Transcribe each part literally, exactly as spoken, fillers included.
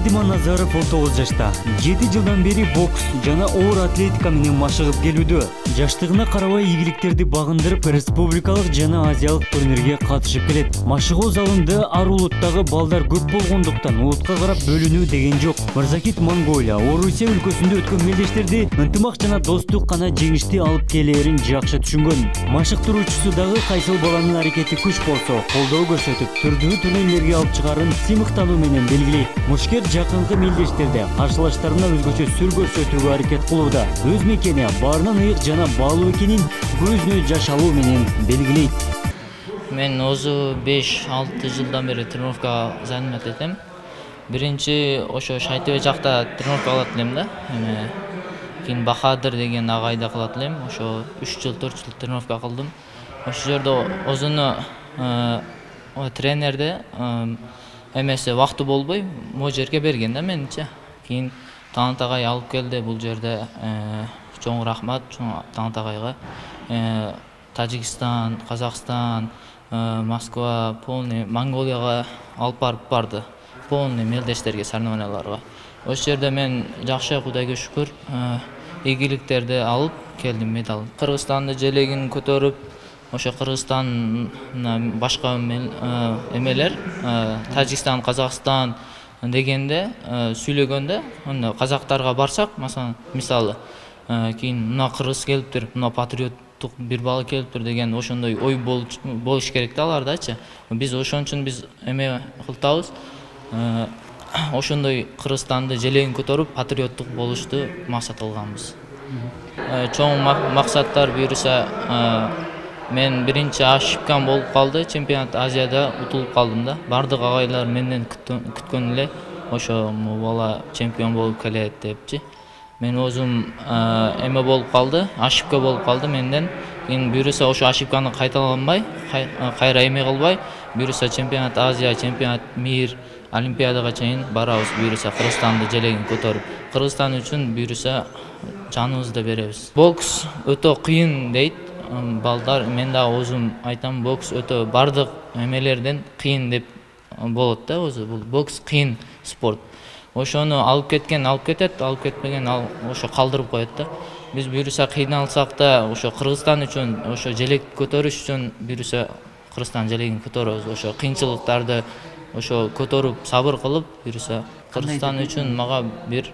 Диманазаров он тогуз жашта. жети жылдан бери бокс жана оор атлетика менен машыгып келүүдө. Жаштыгына карабай ийгиликтерди багындырып, республикалык жана азиялык турнирге катышып келет. Машыгуу залында ар улуттагы балдар көп болгондуктан улутка карап бөлүнүү деген жок. Мырзакит Монголия, Орусия өлкөсүндө өткөн мелдештерди ынтымак жана достук гана жеңишти алып келээрин жакшы түшүнгөн. Машыктыруучусу дагы кайсыл баланын аракети күч болсо, колдоо көрсөтүп, түрдүү турнирлерге алып чыгарын сыймыктануу менен белгилейт. Мушкер жакынкы мелдештерде каршылаштарына өзгөчө сүр көрсөтүүгө аракет кылууда. Өз мекени баарынан ыйык жана баалуу экенин көзүнө жаш алуу менен белгилейт. Мен өзү беш алты жылдан бери тренировкага занят этем. Биринчи ошо Шайтөбө жакта тренировка кылат элем да. Эме кийин Бахадыр деген агайда кылат элем. Ошо үч жыл төрт жыл тренировка кылдым. Ошол жерде өзүнө тренерде эмеси вакыты болбой, могу жерге берген да менче. Кийин Талант агай алып келди бул жерде. Чоң рахмат Талант агайга. Тажикстан, Казакстан, Москва, полный Монголияга алып барып барды. Полный мелдештерге, соревнованияларга. Ошол жерде мен жакшы, Кудайга шүкүр, ийгиликтерди алып келдим, медаль. Кыргызстандын желегин көтөрүп, ошо Кыргызстан башка эмелер, Тажикстан, Казакстан дегенде сүйлөгөндө, казактарга барсак, мисалы, кийин мына кыргыз келиптир, мына патриоттук бир бала келиптир деген ошондой ой болуш керек да алардачы. Биз ошон үчүн биз эме кылтабыз. Ошондой Кыргызстанды желегин көтөрүп, патриоттук болушту максат кылганбыз. Чоң максаттар буюрса, мен биринчи ошибкам болуп калды, чемпионат Азияда утулуп калдым да. Бардык агайлар менден күткөн эле, ошо бала чемпион болуп келет депчи. Мен өзүм эме болуп калды, ошибка болуп калды менден. Кийин буюрса ошо ошибканы кайталанбай, кайра эме кылбай, буюрса чемпионат Азия, чемпионат мир, Олимпиадага чейин барабыз, буюрса Кыргызстанды желегин көтөрүп. Кыргызстан үчүн буюрса жаныбызды беребиз. Бокс өтө кыйын дейт балдар. Мен да өзүм айтам, бокс өтө бардык эмелерден кыйын деп болот да өзү. Бул бокс кыйын спорт. Ошону алып кеткен алып кетет, алып кетпеген ал ошо калдырып коет да. Биз буюрса кыйналсак да, ошо Кыргызстан үчүн, ошо желек көтөрүш үчүн буюрса Кыргызстан желегин көтөрөбүз. Ошо кыйынчылыктарды ошо көтөрүп, сабыр кылып, буюрса Кыргызстан үчүн мага бир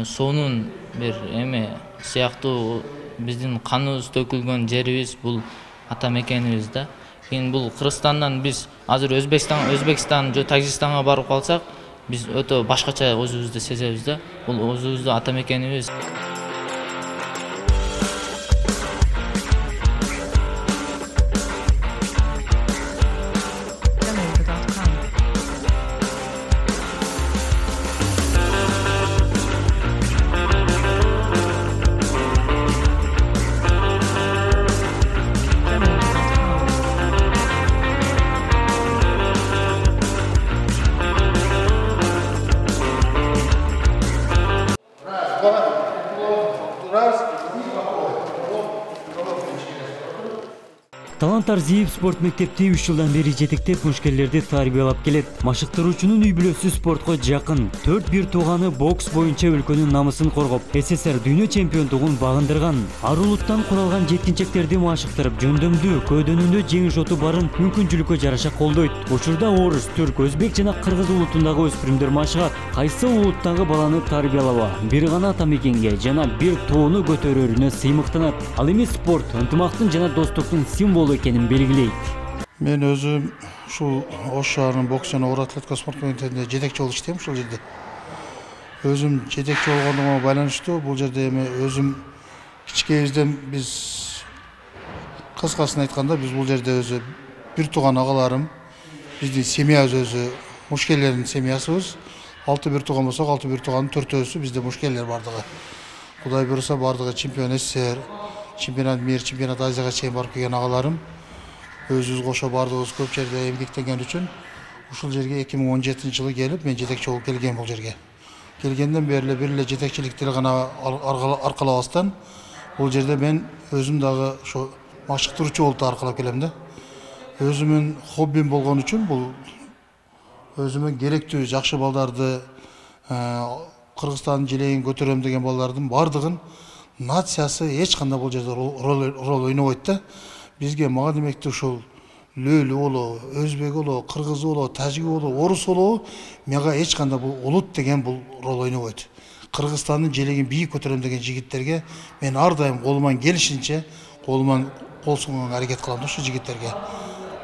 сонун бир эме сыяктуу биздин каныбыз төкүлгөн жерибиз, бул ата мекенибиз да. Кийин бул Кыргызстандан биз азыр Өзбекстан, Өзбекстан же Тажикстанга барып калсак, биз өтө башкача өзүбүздү сезебиз да. Бул өзүбүздүн ата мекенибиз. Талант Арзиев спорт мектепти үч жылдан бери жетектеп, мушкерлерди тарбиялап келет. Машыктыруучунун үй бүлөсү спортко жакын. төрт бир тууганы бокс боюнча өлкөнүн намысын коргоп, СССР дүйнө чемпиондугун багындырган. Ар улуттан куралган жеткинчектерди машыктырып, жөндөмдүү, көөдөнүндө жеңиш оту барын мүмкүнчүлүккө жараша колдойт. Учурда орус, түрк, өзбек жана кыргыз улутундагы өспүрүмдөр машыгат. Кайсы улуттагы баланы тарбиялаба, бир гана ата мекенге жана бир тууну көтөрөрүнө сыймыктанат. Ал эми спорт ынтымактын жана достуктун символу экенин белгилейт. Мен өзүм ушул Ош шаарынын бокс жана оор атлетика спорт комитетинде жетекчи болуп иштейм ушул жерде. Өзүм жетекчи болгондугума байланыштуу бул жерде эми өзүм кичикебизден биз кыскасын айтканда биз бул жерде өзү бир тууган агаларым, биздин семьябыз өзү мушкерлердин семьясыбыз. Алты бир тууган болсок, алты бир тууганын төртөөсү бизде мушкерлер бардыгы. Кудай буйруса бардыгы чемпион СССР, чемпионат мир, чемпионат Азияга чейин барып келген агаларым. Өзүбүз кошо бардыгыбыз көп жерде эмгектенген үчүн ушул жерге эки миң он жетинчи жылы келип, мен жетекчи болуп келгем бул жерге. Келгенден бери эле бир эле жетекчиликти гана аркалабастан бул жерде мен өзүм дагы ошо машыктыруучу болуп аркалап келем да. Өзүмүн хоббим болгон үчүн бул өзүмө керектүү жакшы балдарды Кыргызстандын желегин көтөрөм деген балдардын бардыгын нациясы эч кандай бул жерде роль ойнобойт да. Бизге мага демекти ушул лөлү болобу, өзбек болобу, кыргыз болобу, тажик болобу, орус болобу, мага эч кандай бул улут деген бул роль ойнобойт. Кыргызстандын желегин бийик көтөрөм деген жигиттерге мен ар дайым колуман келишинче колуман кол сунганга аракет кылам да ушу жигиттерге.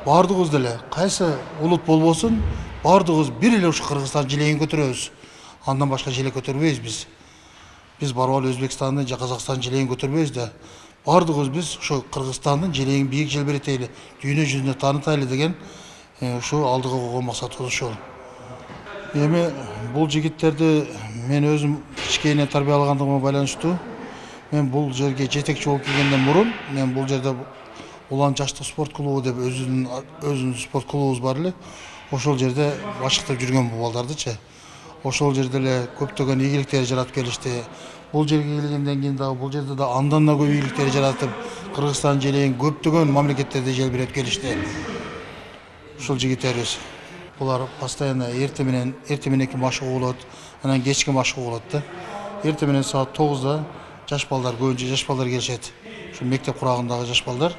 Бардыгыбыз деле кайсы улут болбосун, бардыгыбыз бир эле ушу Кыргызстан желегин көтөрөбүз. Андан башка желек көтөрбөйбүз биз. Биз барып алып Өзбекстандын же Казакстандын желегин көтөрбөйбүз да. Бардыгыбыз биз ушу Кыргызстандын желегин бийик желбиретели, дүйнө жүзүнө таанытайлы деген ушу алдыга койгон максатыбыз ушул. Эми бул жигиттерди мен өзүм кичкейинен тарбиялагандыгыма байланыштуу. Мен бул жерге жетекчи болуп келгенден мурун, мен бул жерде Улан жаштык спорт клубу деп өзүнүн өзүнүн спорт клубубуз бар эле. Ошол жерде башкартып жүргөн бул балдардычы. Ошол жерде эле көптөгөн ийгиликтер жаратып келишти. Бул жерге келгенден кийин дагы бул жерде да андан да көп ийгиликтер жаратып, Кыргызстан желегин көптөгөн мамлекеттерде желбиреп келишти. Ушул жигиттерибиз. Булар постоянно эрте менен эрте мененки машыгуу болот, анан кечки машыгуу болот да. Эрте менен саат тогузда жаш балдар, көбүнчө жаш балдар келишет. Ушу мектеп курагындагы жаш балдар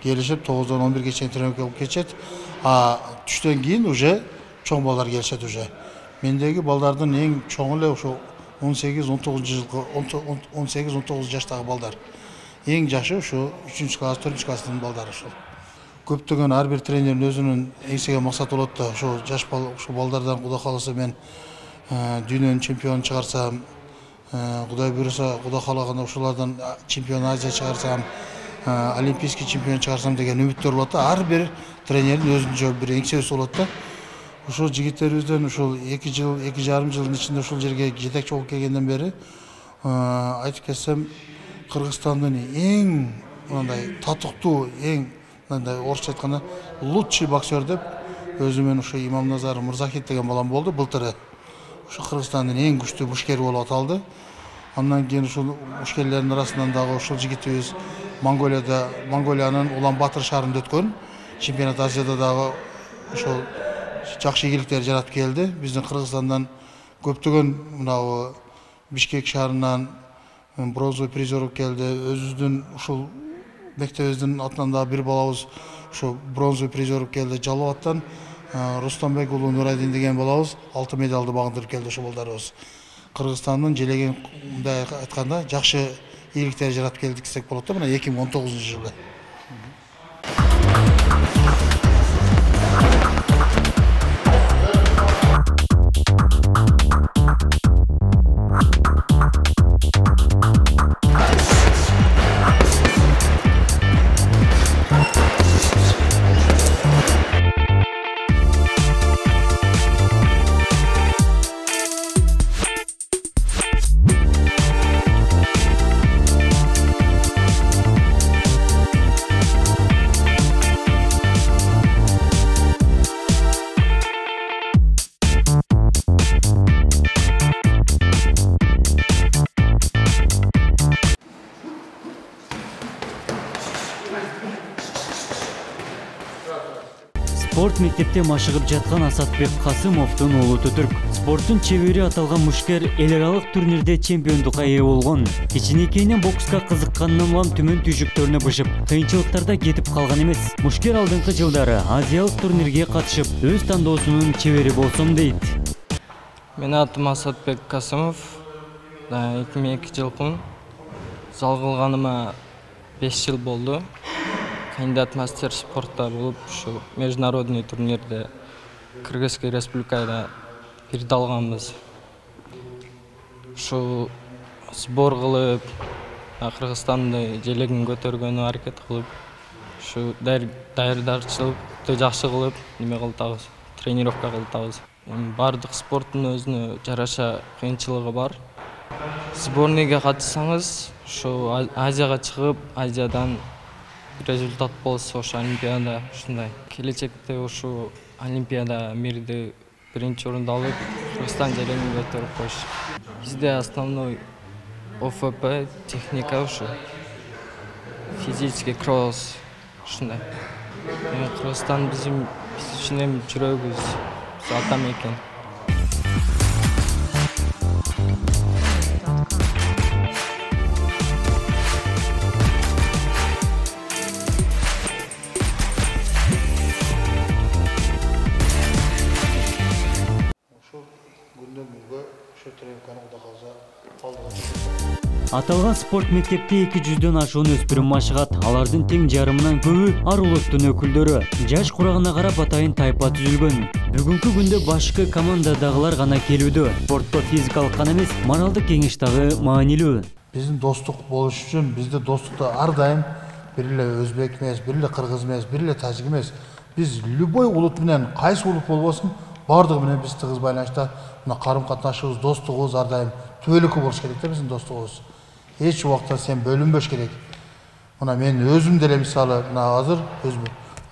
келишип тогуздан он бирге чейин тренировка кылып кетишет. А түштөн кийин уже чоң балдар келишет уже. Мендеги балдардын эң чоңу эле ошо он сегиз он тогуз жылкы он сегиз он тогуз жаштагы балдар. Эң жашы ошо үчүнчү класс, төртүнчү класстын балдары ошол. Көптөгөн ар бир тренердин өзүнүн эңсеген максаты болот да. Ошо жаш бал, ошо балдардан Кудай кааласа мен дүйнөнүн чемпионун чыгарсам, Кудай буйруса, Кудай каалаганда ошолордон чемпион Азия чыгарсам, олимпийский чемпион чыгарсам деген үмүттөр болот да. Ар бир тренердин өзүнчө бир эңсебеси болот да. Ошол жигиттерибизден ушул эки жыл, эки жарым жылдын ичинде ушул жерге жетекчи болуп келгенден бери айтып кетсем, Кыргызстандын эң мындай татыктуу, эң мындай орусча айтканда лучший боксер деп өзүмөн ушу Имамназар Мырзахит деген балам болду былтыры. Ушу Кыргызстандын эң күчтүү мушкери болуп аталды. Андан кийин ушул мушкерлердин арасынан дагы ушул жигитибиз Монголияда, Монголиянын Улан-Батыр шаарында өткөн чемпионат Азияда дагы ошол жакшы ийгиликтер жаратып келди. Биздин Кыргызстандан көптөгөн мынабу Бишкек шаарынан бронзовый призер келди. Өзүбүздүн ушул мектебибиздин атынан дагы бир балабыз ушул бронзовый призер келди. Жалал-Абадтан Рустамбек уулу Нурайдин деген балабыз алтын медалды багындырып келди ошол балдарыбыз. Кыргызстандын желегин мындай айтканда жакшы ийгиликтер жаратып келдик десек болот да, мына эки миң он тогузунчу жылы. Спорт мектепте машыгып жаткан Асатбек Касымовдун уулу Түрк. Спорттун чебери аталган мушкер эл аралык турнирде чемпиондукка ээ болгон. Кичинекейинен бокска кызыкканынан улам түмөн түйшүктөрүнө бышып, кыйынчылыктарда кетип калган эмес. Мушкер алдыңкы жылдары азиялык турнирге катышып, өз тандоосунун чебери болсом дейт. Менин атым Асатбек Касымов. эки миң экинчи жылкымын. Зал кылганыма беш жыл болду. Кандидат мастер спорта болуп, ушу международный турнирде Кыргызской республикада бирди алганбыз. Ушу сбор кылып, Кыргызстанды желегин көтөргөнү аракет кылып, ушу даярдашчылыкты жакшы кылып, неме кылтабыз, тренировка кылтабыз. Бардык спорттун өзүнө жараша кыйынчылыгы бар. Сборныйга катышсаңыз, ушу Азияга чыгып, Азиядан результат болсо ошо олимпиада ушундай. Келечекте ушу олимпиада мирди биринчи орунду алып, Кыргызстан желегин көтөрүп коюш. Бизде основной О Ф П, техника ушу. Физический кросс ушундай. Кыргызстан биздин биз үчүн эми жүрөгүбүз, атам экен. Аталган спорт мектепте эки жүздөн ашуун өспүрүм машыгат. Алардын тең жарымынан көбү ар улуттун өкүлдөрү. Жаш курагына карап атайын тайпа түзүлгөн. Бүгүнкү күндө башкы командадагылар гана келүүдө. Спортто физикалык гана эмес, моралдык кеңеш дагы маанилүү. Биздин достук болуш үчүн бизде достукта ар дайым бир эле өзбек эмес, бир эле кыргыз эмес, бир эле тажик эмес. Биз любой улут менен, кайсы улут болбосун, бардыгы менен биз тыгыз байланышта мына карым-катнашыбыз, достугубуз ар дайым түбөлүккө болуш керек да биздин достугубуз. Эч убакта сен бөлүнбөш керек. Мына мен өзүм деле мисалы мына азыр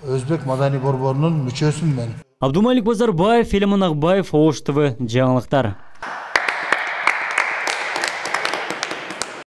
Өзбек Маданий борборунун мүчөсүмүн мен. Абдумалик Базарбаев, Элемон Акбаев, Ош ТВ жаңылыктар.